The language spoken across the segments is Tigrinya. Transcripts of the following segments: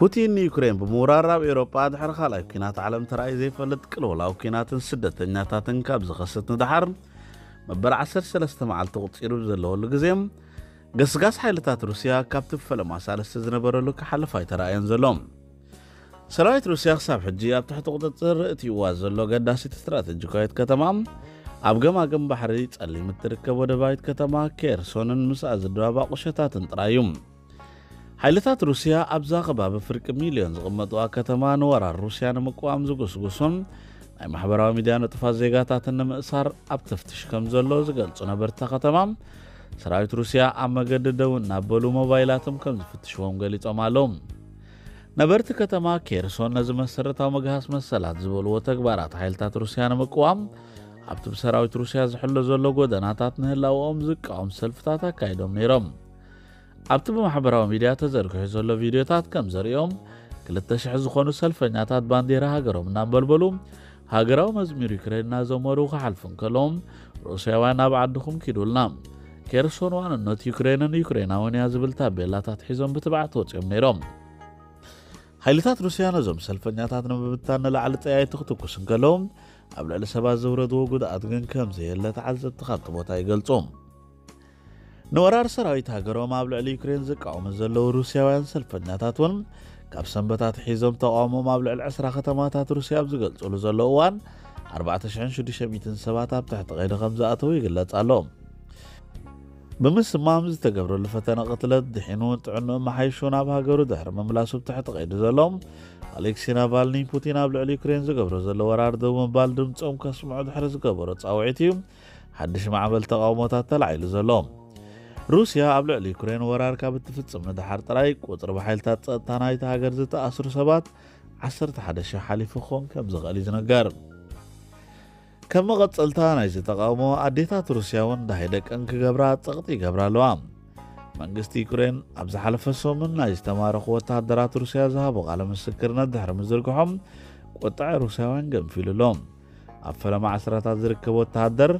ፑቲን ንዩክሬን ብምውራር ኣብ ኤውሮጳ ድሕሪ ካልኣይ ኲናት ዓለም ተራእዩ ዘይፈልጥ ቅልውላው ኲናትን ስደተኛታትን ካብ ዝኸስት ንደሓር መበል ዓሰርተ ሰለስተ መዓልቲ ቁጺሩ ዘለወሉ ግዜ፣ ገስጋስ ሓይልታት ሩስያ ካብቲ ፈለማ ሳልስቲ ዝነበረሉ ክሓልፍ ኣይተራእየን ዘሎ። ሰራዊት ሩስያ ክሳብ ሕጂ ኣብ ትሕቲ ቁጽጽር እትይዋ ዘሎ ገዳሲት ስትራተጂካዊት ከተማ፣ ኣብ ገማግም ባሕሪ ጸሊም እትርከብ ወደባዊት ከተማ ኬርሶንን ምስኣ ዝድባባ ቁሸታትን ጥራይ እዩ። ሓይልታት ሩስያ ኣብዛ ከባቢ ፍርቂ ሚልዮን ዝቕመጥዋ ከተማ ንወራር ሩስያ ንምቅዋም ዝጉስጉሱን ናይ ማሕበራዊ ሚድያ ንጡፋት ዜጋታትን ንምእሳር ኣብ ተፍትሽ ከም ዘሎ ዝገልጹ ነበርታ ከተማ፣ ሰራዊት ሩስያ ኣብ መገዲ ደው እናበሉ ሞባይላቶም ከም ዝፍትሽዎም ገሊጾም ኣለዉ። ነበርቲ ከተማ ኬርሶን ነዚ መሰረታዊ መግሃስ መሰላት ዝበልዎ ተግባራት ሓይልታት ሩስያ ንምቅዋም ኣብቲ ብሰራዊት ሩስያ ዝሕሎ ዘሎ ጎደናታት ንህላውኦም ዝቃወም ሰልፍታት ኣካይዶም ነይሮም። ኣብቲ ብማሕበራዊ ሚድያ ተዘርግሑ ዘሎ ቪድዮታት ከም ዘርእዮም፣ ክልተ ሽሕ ዝኾኑ ሰልፈኛታት ባንዴራ ሃገሮም እናንበልበሉ ሃገራዊ መዝሙር ዩክሬን እናዘመሩ ክሓልፉ እንከለዎም፣ ሩስያውያን ናብ ዓድኹም ኪዱልና፣ ኬርሶን ዋንነት ዩክሬንን ዩክሬናውን እያ ዝብል ታቤላታት ሒዞም ብትብዓት ወፂኦም ነይሮም። ሓይልታት ሩስያ ነዞም ሰልፈኛታት ንምብታን ንላዕሊ ጠያይቲ ክትኩስ እንከለዎም፣ ኣብ ልዕሊ ሰባት ዘውረድዎ ጉድኣት ግን ከም ዘየለ ተዓዘብቲ ካብቲ ቦታ ይገልጹ። ንወራር ሰራዊት ሃገሮም ኣብ ልዕሊ ዩክሬን ዝቃወሙ ዘለዉ ሩስያውያን ሰልፈኛታት እውን ካብ ሰንበታት ሒዞም ተቃውሞም ኣብ ልዕሊ ዕስራ ከተማታት ሩስያ ኣብ ዝገልጹሉ ዘለዉ እዋን ኣርባዕተ ሽሕን ሽዱሽተ ሚእትን ሰባት ኣብ ትሕቲ ቀይዲ ከም ዝኣተዉ ይግለጽ ኣሎ። ብምስማም ዝተገብረሉ ፈተነ ቅትለት ድሒኑ ጥዕንኡ መሓይሹ ናብ ሃገሩ ድሕሪ ምምላሱ ብትሕቲ ቀይዲ ዘሎ ኣሌክሲ ናቫልኒ፣ ፑቲን ኣብ ልዕሊ ዩክሬን ዝገብሮ ዘሎ ወራር ደው ምባል ድምፆም ከስምዑ ድሕሪ ዝገበሮ ፃውዒት እዩ ሓድሽ ማዕበል ተቃውሞታት ተላዒሉ ዘሎ። ሩስያ ኣብ ልዕሊ ዩክሬን ወራር ካብ እትፍጽም ንደሓር ጥራይ ቁጽሪ ብሓይልታት ጸጥታ ናይቲ ሃገር ዝተኣስሩ ሰባት ዓሰርተ ሓደ ሽሕ ሓሊፉ ክኾን ከም ዝኽእል እዩ ዝንገር። ከም መቐጸልታ ናይዚ ተቃውሞ ኣዴታት ሩስያ እውን ደሃይ ደቀን ክገብራ ጸቕጢ ይገብራ ኣለዋ። መንግስቲ ዩክሬን ኣብ ዝሓለፈ ሰሙን ናይ ዝተማረኹ ወተሃደራት ሩስያ ዝሃቦ ቃለ ምስክርነት ድሕሪ ምዝርግሖም ቁጥዐ ሩስያውያን ገንፊሉ ኣሎ። ኣብ ፈለማ ዓስራታት ዝርከብ ወተሃደር፣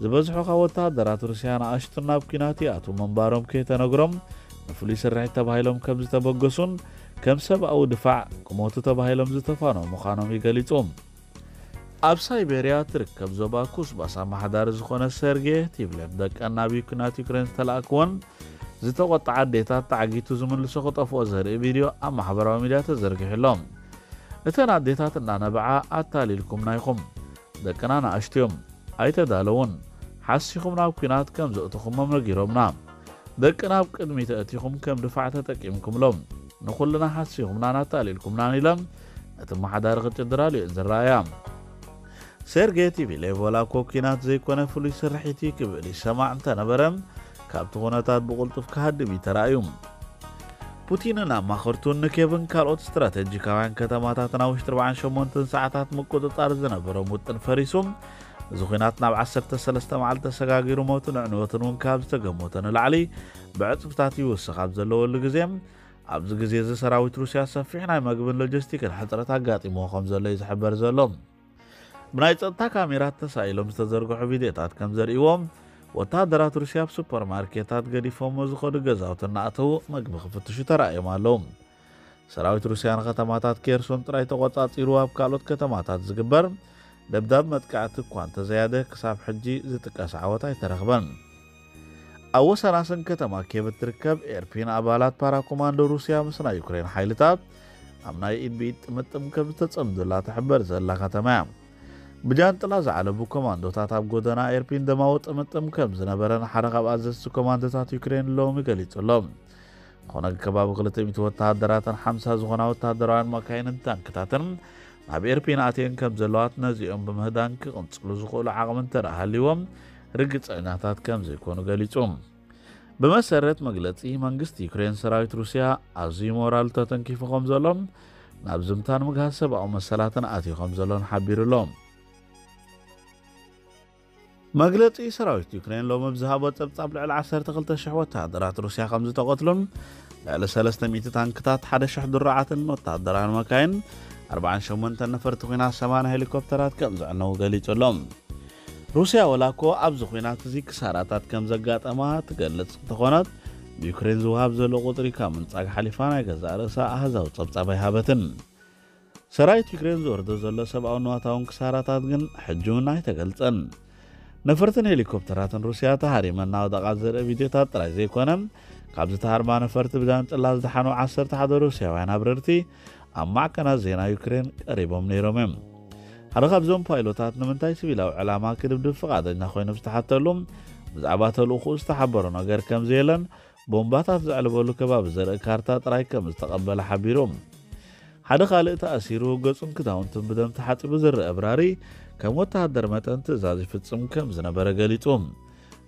ዝበዝሑ ካብ ወተሃደራት ሩስያ ንኣሽቱ ናብ ኲናት ይኣትዉ ምንባሮም ከይተነግሮም ንፍሉይ ስርሒት ተባሂሎም ከም ዝተበገሱን ከም ሰብኣዊ ድፋዕ ክሞቱ ተባሂሎም ዝተፋነዉ ምዃኖም እዩ ገሊጹ። ኣብ ሳይቤርያ ትርከብ ዞባ ኩስባስ ኣመሓዳሪ ዝኾነ ሰርጌ ቲቭሌቭ ደቀን ናብ ዩክናት ዩክሬን ዝተላእክዎን ዝተቆጥዓ ኣዴታት ተዓጊቱ ዝምልሶ ክጠፍኦ ዘርኢ ቪድዮ ኣብ ማሕበራዊ ሚድያ ተዘርጊሑ ኣሎ። እተን ኣዴታት እናነበዓ ኣታሊልኩምና ኢኹም፣ ደቅና ንኣሽቱ እዮም፣ ኣይተዳለዉን፣ ሓሲኹም ናብ ኲናት ከም ዘእተኹሞም ነጊሮምና። ደቅና ኣብ ቅድሚት ኣእቲኹም ከም ድፋዕ ተጠቂምኩምሎም፣ ንኹልና ሓሲኹምናን ኣታሊልኩምናን ኢለን ነቲ ኣመሓዳሪ ክጭድራሉ እየን ዝረኣያ። ሴርጌ ቲቪሌቭ ዋላ እኮ ኲናት ዘይኮነ ፍሉይ ስርሒት እዩ ክብል ይሰማዕ እንተነበረ፣ ካብቲ ኩነታት ብቕልጡፍ ክሃድም እዩ ተራእዩ። ፑቲንን ኣማኸርቱን ንኬቭን ካልኦት ስትራተጂካውያን ከተማታትን ኣብ ውሽጢ ኣርባዓን ሸሞንተን ሰዓታት ምቁጽጻር ዝነበሮም ውጥን ፈሪሱ፣ እዚ ኲናት ናብ ዓሰርተ ሰለስተ መዓልቲ ተሰጋጊሩ ሞትን ዕንወትን እውን ካብ ዝተገመቶ ንላዕሊ ብዕጽፍታት ይውስኽ ኣብ ዘለወሉ ግዜ፣ ኣብዚ ግዜ እዚ ሰራዊት ሩስያ ሰፊሕ ናይ መግብን ሎጂስቲክን ሕጽረት ኣጋጢምዎ ከም ዘሎ እዩ ዝሕበር ዘሎ። ብናይ ጸጥታ ካሜራት ተሳኢሎም ዝተዘርግሑ ቪድዮታት ከም ዘርእይዎ፣ ወተሃደራት ሩስያ ኣብ ሱፐርማርኬታት ገዲፎሞ ዝኸዱ ገዛውቲ እናኣተዉ መግቢ ክፍትሹ ተራእዮም ኣለዉ። ሰራዊት ሩስያ ንከተማታት ኬርሶን ጥራይ ተቖጻጺሩ ኣብ ካልኦት ከተማታት ዝግበር ደብዳብ መጥቃዕቲ እኳ እንተዘያደ ክሳብ ሕጂ ዝጥቀስ ዓወት ኣይተረኽበን። ኣብ ወሰናስን ከተማ ኬቭ እትርከብ ኤርፒን ኣባላት ፓራኮማንዶ ሩስያ ምስ ናይ ዩክሬን ሓይልታት ኣብ ናይ ኢድ ብኢድ ጥምጥም ከም ዝተጸምዱላ ትሕበር ዘላ ከተማ እያ። ብጃንጥላ ዝዓለቡ ኮማንዶታት ኣብ ጎደና ኤርፒን ደማዊ ጥምጥም ከም ዝነበረን ሓደ ካብ ኣዘዝቲ ኮማንዶታት ዩክሬን ሎሚ ገሊጹ ኣሎ። ዝኾነ ከባቢ ክልተ ሚእቲ ወተሃደራትን ሓምሳ ዝኾና ወተሃደራውያን መካይንን ታንክታትን ናብ ኤርፒን ኣትየን ከም ዘለዋት ነዚኦም ብምህዳን ክቕንጽሉ ዝኽእሉ ዓቕሚ እንተ ደኣ ሃልይዎም ርግጸኛታት ከም ዘይኮኑ ገሊጹ። ብመሰረት መግለጺ መንግስቲ ዩክሬን ሰራዊት ሩስያ ኣዝዩ ሞራሉ ተተንኪፉ ከም ዘሎን ናብ ዝምታን ምግሃስ ሰብኣዊ መሰላትን ኣትዩ ከም ዘሎን ሓቢሩ ኣሎ። መግለጺ ሰራዊት ዩክሬን ሎሚ ብዝሃቦ ጸብጻብ ልዕሊ ዓሰርተ ክልተ ሽሕ ወተሃደራት ሩስያ ከም ዝተቐትሉን ልዕሊ ሰለስተ ሚእቲ ታንክታት፣ ሓደ ሽሕ ድሩዓትን ወተሃደራውያን መካይን፣ ኣርባዓን ሸሞንተን ነፈርቲ ኲናት፣ ሰማንያ ሄሊኮፕተራት ከም ዝዕነዉ ገሊጹ ኣሎ። ሩስያ ወላ እኮ ኣብዚ ኲናት እዚ ክሳራታት ከም ዘጋጠማ ትገልጽ እንተኾነት፣ ብዩክሬን ዝወሃብ ዘሎ ቁጽሪ ካብ ምንጻግ ሓሊፋ ናይ ገዛእ ርእሳ ኣሃዛዊ ጸብጻብ ኣይሃበትን። ሰራዊት ዩክሬን ዝወርዶ ዘሎ ሰብኣዊ ንዋታውን ክሳራታት ግን ሕጂ እውን ኣይተገልጸን። ነፈርትን ሄሊኮፕተራትን ሩስያ ተሃሪመን እናወደቓ ዘርኢ ቪድዮታት ጥራይ ዘይኮነ፣ ካብ ዝተሃርማ ነፈርቲ ብዛንጭላ ዝደሓኑ ዓሰርተ ሓደ ሩስያውያን ኣብረርቲ ኣብ ማዕከናት ዜና ዩክሬን ቀሪቦም ነይሮም እዮም። ሓደ ካብዞም ፓይሎታት ንምንታይ ሲቪላዊ ዕላማ ክድብድብ ፍቓደኛ ኮይኑ ዝተሓተሉ፣ ብዛዕባ ተልእኾኡ ዝተሓበሮ ነገር ከም ዘየለን፣ ቦምባታት ዘዕልበሉ ከባቢ ዘርኢ ካርታ ጥራይ ከም ዝተቐበለ ሓቢሩ። ሓደ ካልእ ተኣሲሩ፣ ገጹን ክዳውንቱን ብደም ተሓጺቡ ዝረአ ኣብራሪ፣ ከም ወተሃደር መጠን ትእዛዝ ይፍጽም ከም ዝነበረ ገሊጹ።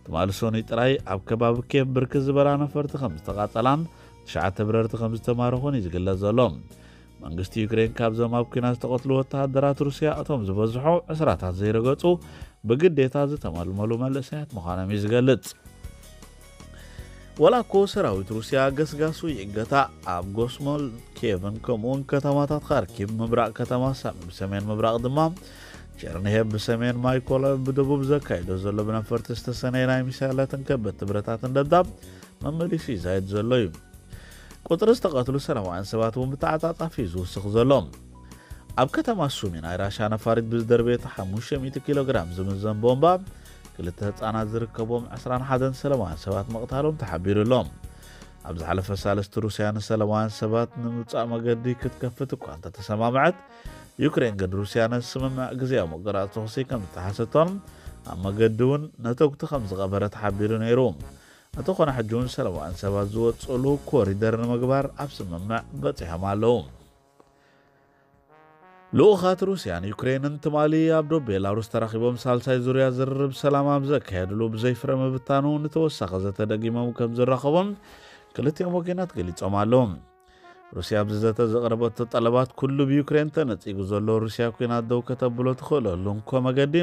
ትማሊ ሰኑይ ጥራይ ኣብ ከባቢ ኬቭ ብርክት ዝበላ ነፈርቲ ከም ዝተቓጸላን ትሽዓተ ብረርቲ ከም ዝተማረኹን እዩ ዝግለጽ ዘሎ። መንግስቲ ዩክሬን ካብዞም ኣብ ኲናት ዝተቐትሉ ወተሃደራት ሩስያ እቶም ዝበዝሑ ዕስራታት ዘይረገጹ ብግዴታ ዝተመልመሉ መንእሰያት ምዃኖም እዩ ዝገልጽ። ወላ እኮ ሰራዊት ሩስያ ገስጋሱ ይእገታ፣ ኣብ ጎስሞል ኬቭን ከምኡውን ከተማታት ካርኪቭ ምብራቕ ከተማ ሳሚ ብሰሜን ምብራቕ ድማ ቸርኒሄቭ ብሰሜን ማይኮላይቭ ብደቡብ ዘካይዶ ዘሎ ብነፈርቲ ዝተሰነየ ናይ ሚሳይላትን ከበድቲ ብረታትን ደብዳብ መመሊሱ ይዛየድ ዘሎ እዩ። ቁጽሪ ዝተቐትሉ ሰላማውያን ሰባት እውን ብተዓጻጻፊ እዩ ዝውስኽ ዘሎ። ኣብ ከተማ ሱሚ ናይ ራሻ ነፋሪት ብዝደርበየቶ ሓሙሽተ ሚእቲ ኪሎ ግራም ዝምዘን ቦምባ ክልተ ህጻናት ዝርከቦም ዕስራን ሓደን ሰላማውያን ሰባት ምቕታሎም ተሓቢሩ ኣሎ። ኣብ ዝሓለፈ ሳልስቲ ሩስያ ንሰላማውያን ሰባት ንምውጻእ መገዲ ክትከፍት እኳ እንተተሰማምዐት፣ ዩክሬን ግን ሩስያ ነቲ ስምምዕ ግዜያዊ ምቁራጽ ተኹሲ ከም ዝተሓሰቶን ኣብ መገዲ እውን ነተጉቲ ከም ዝቐበረ ተሓቢሩ ነይሩ። እንተኾነ ሕጂ እውን ሰላማውያን ሰባት ዝወጽእሉ ኮሪደር ንምግባር ኣብ ስምምዕ በጺሖም ኣለዉ። ልኡኻት ሩስያን ዩክሬንን ትማሊ ኣብ ዶብ ቤላሩስ ተራኺቦም ሳልሳይ ዙርያ ዝርርብ ሰላም ኣብ ዘካየድሉ ብዘይ ፍረ ምብታኑ ንተወሳኺ ዘተ ደጊሞም ከም ዝራኸቡን ክልቲኦም ወገናት ገሊጾም ኣለዉ። ሩስያ ኣብዚ ዘተ ዘቕረበቶ ጠለባት ኩሉ ብዩክሬን ተነጺጉ ዘሎ ሩስያ ኲናት ደው ከተብሎ ትኽእለሉ እንኮ መገዲ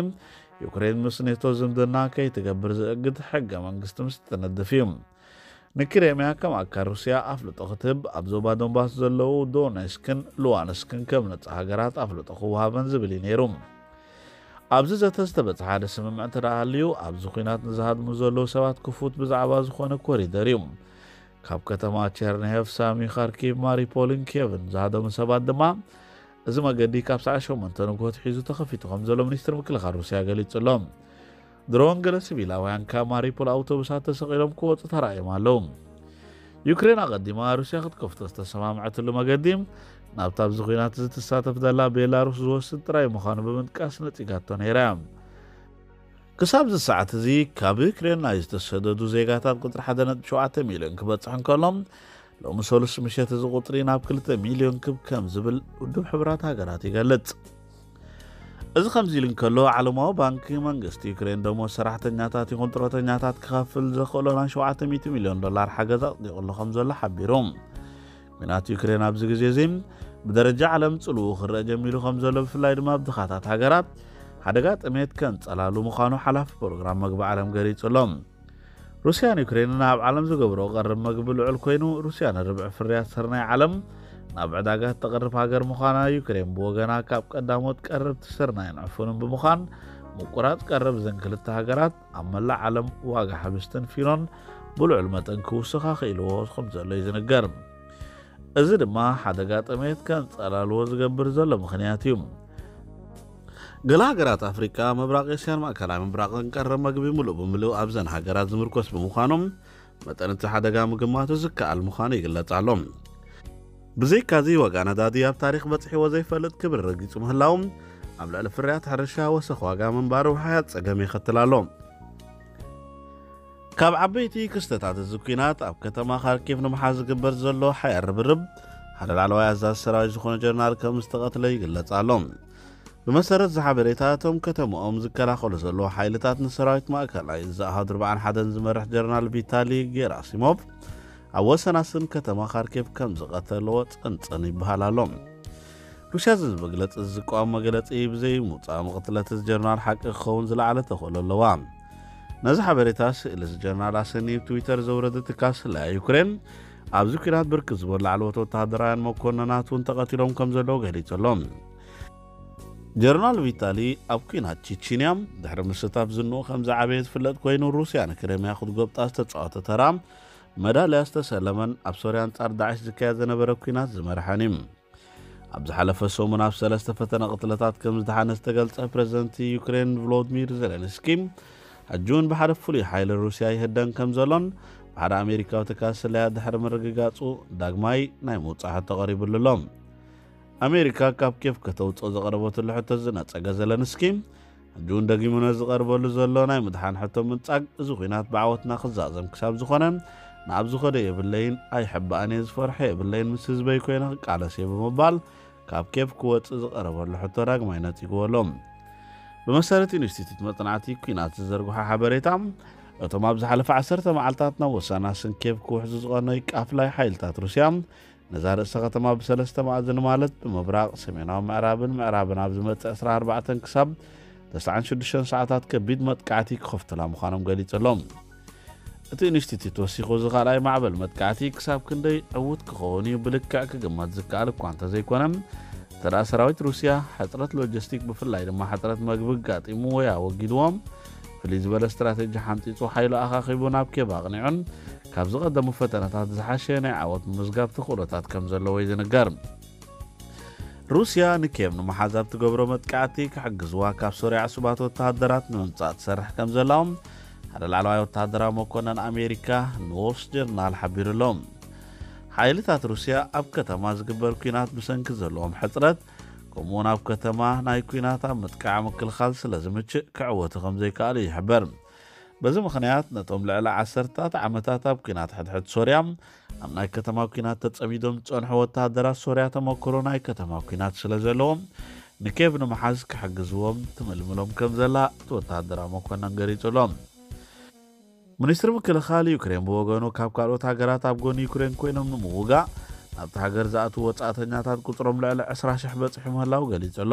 ዩክሬን ምስ ኔቶ ዝምድና ከይትገብር ዝእግድ ሕገ መንግስቲ ምስ ትነድፍ እዩ። ንክሬምያ ከም ኣካል ሩስያ ኣፍልጦ ክትህብ ኣብ ዞባ ዶንባስ ዘለዉ ዶኔስክን ሉዋንስክን ከም ነጻ ሃገራት ኣፍልጦ ክወሃበን ዝብል እዩ ነይሩ። ኣብዚ ዘተ ዝተበጽሐ ሓደ ስምምዕ እንተ ደኣ ሃልዩ፣ ኣብዚ ኲናት ንዝሃድሙ ዘለዉ ሰባት ክፉት ብዛዕባ ዝኾነ ኮሪደር እዩ። ካብ ከተማ ቸርኒሄቭ፣ ሳሚ፣ ካርኪቭ፣ ማሪፖልን ኬቭን ዝሃደሙ ሰባት ድማ፣ እዚ መገዲ ካብ ሰዓት ሸሞንተ ንግሆ ኣትሒዙ ተኸፊቱ ከም ዘሎ ሚኒስትሪ ምክልኻል ሩስያ ገሊጹ ኣሎ። ድሮን ገለ ሲቪላውያን ካብ ማሪፖል ኣውቶቡሳት ተሰቒሎም ክወጹ ተራእዮም ኣለዉ። ዩክሬን ኣቐዲማ ሩስያ ክትከፍቶ ዝተሰማምዐትሉ መገዲ ናብቲ ኣብዚ ኲናት እዚ ትሳተፍ ዘላ ቤላሩስ ዝወስድ ጥራይ ምዃኑ ብምጥቃስ ነጺጋቶ ነይራ እያ። ክሳብ እዚ ሰዓት እዚ ካብ ዩክሬን ናይ ዝተሰደዱ ዜጋታት ቁጽሪ ሓደ ነጥቢ ሸውዓተ ሚልዮን ክበጽሕ እንከሎ፣ ሎሚ ሰሉስ ምሸት እዚ ቁጽሪ ናብ ክልተ ሚልዮን ክብ ከም ዝብል ውድብ ሕቡራት ሃገራት ይገልጽ። እዚ ከምዚ ኢሉ እንከሎ፣ ዓለማዊ ባንኪ መንግስቲ ዩክሬን ደሞዝ ሰራሕተኛታት ይኹን ጡረተኛታት ክኸፍል ዘኽእሎ ናይ ሸውዓተ ሚእቲ ሚልዮን ዶላር ሓገዝ ኣጽዲቑ ኣሎ ከም ዘሎ ሓቢሩ። ኲናት ዩክሬን ኣብዚ ግዜ እዚ ብደረጃ ዓለም ጽልውኡ ክረአ ጀሚሩ ከም ዘሎ፣ ብፍላይ ድማ ኣብ ድኻታት ሃገራት ሓደጋ ጥሜት ከንጸላሉ ምዃኑ ሓላፊ ፕሮግራም መግቢ ዓለም ገሊጹ ኣሎ። ሩስያን ዩክሬንን ኣብ ዓለም ዝገብሮ ቀረብ መግቢ ልዑል ኮይኑ፣ ሩስያ ንርብዒ ፍርያት ስርናይ ዓለም ናብ ዕዳጋ እተቕርብ ሃገር ምዃና፣ ዩክሬን ብወገና ካብ ቀዳሞት ቀረብቲ ስርናይን ዕፉንን ብምዃን፣ ምቁራጽ ቀረብ እዘን ክልተ ሃገራት ኣብ መላእ ዓለም ዋጋ ሕብስትን ፊኖን ብልዑል መጠን ክውስኽ ኣኽኢልዎ ከም ዘሎ እዩ ዝንገር። እዚ ድማ ሓደጋ ጥሜት ከንጸላልዎ ዝገብር ዘሎ ምኽንያት እዩ። ገለ ሃገራት ኣፍሪቃ፣ ምብራቕ ኤስያን ማእከላይ ምብራቕን ቀረብ መግቢ ምሉእ ብምሉእ ኣብዘን ሃገራት ዝምርኮስ ብምዃኖም፣ መጠን እቲ ሓደጋ ምግማቱ ዝከኣል ምዃኑ ይግለጽ ኣሎ። ብዘይካዚ፣ ዋጋ ነዳዲ ኣብ ታሪኽ በጺሕዎ ዘይፈልጥ ክብሪ ረጊጹ ምህላው፣ ኣብ ልዕሊ ፍርያት ሕርሻ ወሰኽ ዋጋ ምንባሩ ውሕያት ጸገም የኸትል ኣሎ። ካብ ዓበይቲ ክስተታት እዚ ኲናት፣ ኣብ ከተማ ካርኪቭ ንምሓዝ ዝግበር ዘሎ ሓያል ርብርብ፣ ሓደ ላዕለዋይ ኣዛዚ ሰራዊት ዝኾነ ጀነራል ከም ዝተቐትለ ይግለጽ ኣሎ። ብመሰረት እዚ ሓበሬታ፣ እቶም ከተማኦም ዝከላኸሉ ዘለዉ ሓይልታት ንሰራዊት ማእከላይ እዚ ኣሃዱ ኣርባዓን ሓደን ዝመርሕ ጀነራል ቪታሊ ጌራሲሞቭ ኣብ ወሰናስን ከተማ ካርኪቭ ከም ዝቐተልዎ ጸንጸን ይበሃል ኣሎ። ሩስያ እዚ መግለጺ ዝቃወም መግለጺ ብዘይ ምውጻእ፣ መቕትለት እዚ ጀነራል ሓቂ ክኸውን ዝለዓለ ተኽእሎ ኣለዋ። ነዚ ሓበሬታ፣ ስእሊ እዚ ጀነራል ኣሰንዩ ኣብ ትዊተር ዘውረደ ትካል ስለያ ዩክሬን፣ ኣብዚ ኲናት ብርክት ዝበሉ ላዕለዎት ወተሃደራውያን መኮንናት እውን ተቐቲሎም ከም ዘለዉ ገሊጹ ኣሎ። ጀነራል ቪታሊ ኣብ ኲናት ቺቺንያ ድሕሪ ምስታፍ ዝንኡ ከም ዝዓበየ ዝፍለጥ ኮይኑ፣ ሩስያ ንክሬምያ ክትጎብጣ ዝተጻወተ ተራ መዳልያ ዝተሰለመን ኣብ ሶርያ ኣንጻር ዳዕሽ ዝካየድ ዝነበረ ኲናት ዝመርሐን እዩ። ኣብ ዝሓለፈ ሰሙን ኣብ ሰለስተ ፈተነ ቅትለታት ከም ዝደሓነ ዝተገልጸ ፕረዚደንት ዩክሬን ቮሎድሚር ዜለንስኪ፣ ሕጂ እውን ብሓደ ፍሉይ ሓይሊ ሩስያ ይህደን ከም ዘሎን ብሓደ ኣሜሪካዊ ትካል ስለያ ድሕሪ ምርግጋጹ ዳግማይ ናይ ምውጻእ ሕቶ ቀሪብሉ ኣሎ። ኣሜሪካ ካብ ኬፍ ከተውጽኦ ዘቐረበትሉ ሕቶ ዝነጸገ ዘለንስኪ፣ ሕጂ እውን ደጊሙ ነዚ ዝቐርበሉ ዘሎ ናይ ምድሓን ሕቶ ምንጻግ፣ እዚ ኲናት ብዓወትና ክዛዘም ክሳብ ዝኾነ፣ ንኣብ ዝኸዶ የብለይን፣ ኣይሕባእን እየ፣ ዝፈርሖ የብለይን፣ ምስ ህዝበይ ኮይነ ክቃለስ እየ ብምባል ካብ ኬፍ ክወጽእ ዝቐረበሉ ሕቶ ዳግማይ ነጺግዎ ኣሎ። ብመሰረት ኢንስቲትዩት መጽናዕቲ ኲናት ዝዘርግሖ ሓበሬታ፣ እቶም ኣብ ዝሓለፈ ዓሰርተ መዓልታት ናብ ወሳናስን ኬፍ ክውሕዙ ዝቐነዩ ቃፍላይ ሓይልታት ሩስያ፣ ነዛ ርእሰ ከተማ ብሰለስተ መኣዝን ማለት ብምብራቕ፣ ሰሜናዊ ምዕራብን ምዕራብን ኣብ ዝመጽእ ዕስራን ኣርባዕተን ክሳብ ተስዓን ሽዱሽተን ሰዓታት ከቢድ መጥቃዕቲ ክኸፍቱላ ምዃኖም ገሊጹ ኣሎ። እቲ ኢንስቲትዩት ወሲኹ፣ እዚ ካልኣይ ማዕበል መጥቃዕቲ ክሳብ ክንደይ ዕዉት ክኸውን እዩ ብልክዕ ክግመት ዝከኣል እኳ እንተዘይኮነ፣ እንተ ደኣ ሰራዊት ሩስያ ሕጽረት ሎጂስቲክ፣ ብፍላይ ድማ ሕጽረት መግቢ ኣጋጢሙ ወይ ኣወጊድዎም፣ ፍልይ ዝበለ ስትራቴጂ ሓንጺጹ፣ ሓይሉ ኣኻኺቡ ናብ ኬብ ኣቕኒዑን ካብ ዝቐደሙ ፈተነታት ዝሓሸ ናይ ዓወት ምምዝጋብ ተኽእሎታት ከም ዘለዎ እዩ ዝንገር። ሩስያ ንኬብ ንምሓዝ ኣብ ትገብሮ መጥቃዕቲ ክሕግዝዋ ካብ ሶርያ ዕሱባት ወተሃደራት ንምምጻእ ትሰርሕ ከም ዘላ ሓደ ላዕለዋይ ወተሃደራዊ መኮነን ኣሜሪካ ንዎል ስትሪት ጆርናል ሓቢሩ ኣሎ። ሓይልታት ሩስያ ኣብ ከተማ ዝግበር ኲናት ብሰንኪ ዘለዎም ሕጽረት፣ ከምኡውን ኣብ ከተማ ናይ ኲናት ኣብ ምጥቃዕ ምክልኻል ስለ ዝምችእ ክዕወቱ ከም ዘይከኣሉ ይሕበር። በዚ ምኽንያት ነቶም ልዕሊ ዓሰርታት ዓመታት ኣብ ኲናት ሕድሕድ ሶርያ ኣብ ናይ ከተማ ኲናት ተጸሚዶም ዝጸንሑ ወተሃደራት ሶርያ ተመክሮ ናይ ከተማ ኲናት ስለ ዘለዎም ንኬቭ ንምሓዝ ክሕግዝዎም ትምልምሎም ከም ዘላ እቲ ወተሃደራዊ መኮነን ገሊጹ ኣሎ። ሚኒስትሪ ምክልኻል ዩክሬን ብወገኑ ካብ ካልኦት ሃገራት ኣብ ጎኒ ዩክሬን ኮይኖም ንምውጋእ ናብቲ ሃገር ዝኣትዉ ወጻእተኛታት ቁጽሮም ልዕሊ ዕስራ ሽሕ በጺሑ ምህላው ገሊጹ ኣሎ።